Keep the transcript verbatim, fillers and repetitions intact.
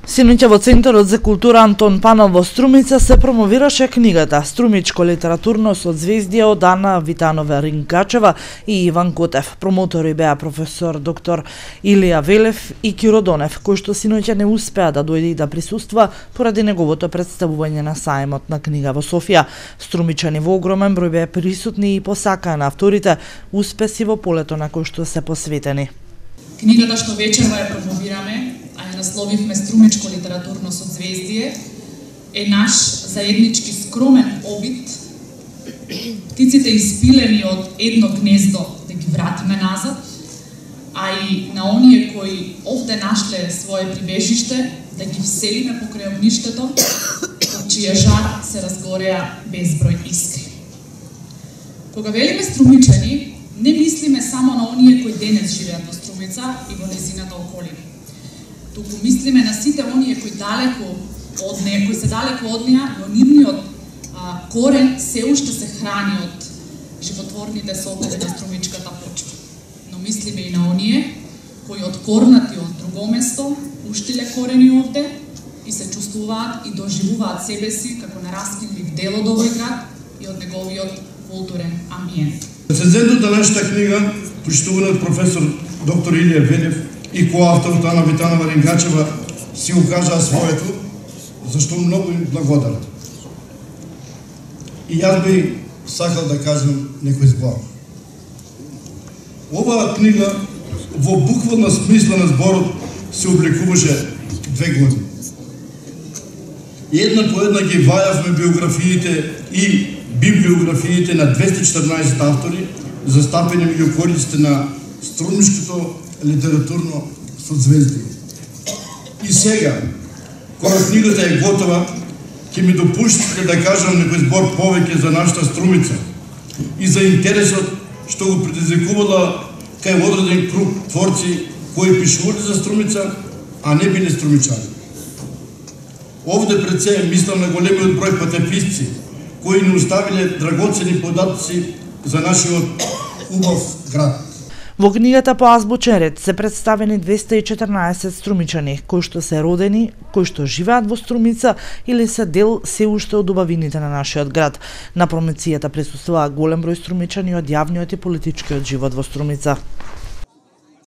Синоќа во Центарот за култура Антон Панов во Струмица се промовираше книгата «Струмичко литературно созвездие» од Ана Витанова-Ринкачева и Иван Котев. Промотори беа професор доктор Илија Велев и Киро Донев, кој што синоќа не успеа да дојде и да присуства поради неговото представување на сајмот на книга во Софија. Струмичани во огромен број беа присутни и посакаа на авторите успеси во полето на кој што се посветени. Книгата што вечерва ја промовираме, а ја насловивме «Струмичко литературно созвездие», е наш заеднички скромен обид птиците испилени од едно гнездо да ги вратиме назад, а и на оние кои овде нашле свое прибежиште да ги вселиме покрај огништето, од чија жар се разгореа безброј искри. Кога велиме струмичани, не мислиме само на оние кои денес живеат во Струмица и во незината околина. Туку мислиме на сите оние кои далеку од неа, кои се далеку од неа, но нивниот а, корен се уште се храни од животворните сокови на струмичката почва. Но мислиме и на оние кои откорнати од друго место уштиле корени овде и се чувствуваат и доживуваат себе си како нераскинлив дел од овој град и од неговиот културен амбиент. Рецензентот на нашата книга, почитуваниот професор доктор Илија Велев и коавторот Ана Витанова-Ринкачева си укажаа своето, зашто многу им благодарам. И јас би сакал да кажам некој збор. Оваа книга во буквална смисла на зборот се обликуваше две години. И една по една ги вајавме биографиите и библиографиите на двеста и четрнаесет автори, застапени меѓу кориците на Струмишкото литературно созвездие. И сега, кога книгата е готова, ќе ми допуштите да кажам некој збор повеќе за нашата Струмица и за интересот што го предизвикувала кај одреден круг творци кои пишувале за Струмица, а не биле струмичани. Овде пред се мислам на големиот број патеписци кои не оставиле драгоцени податоци за нашиот убав град. Во книгата по азбучен ред се представени двеста и четрнаесет струмичани, кои што се родени, кои што живеат во Струмица или се дел се уште од убавините на нашиот град. На промоцијата присуствуваа голем број струмичани од јавниот и политичкиот живот во Струмица.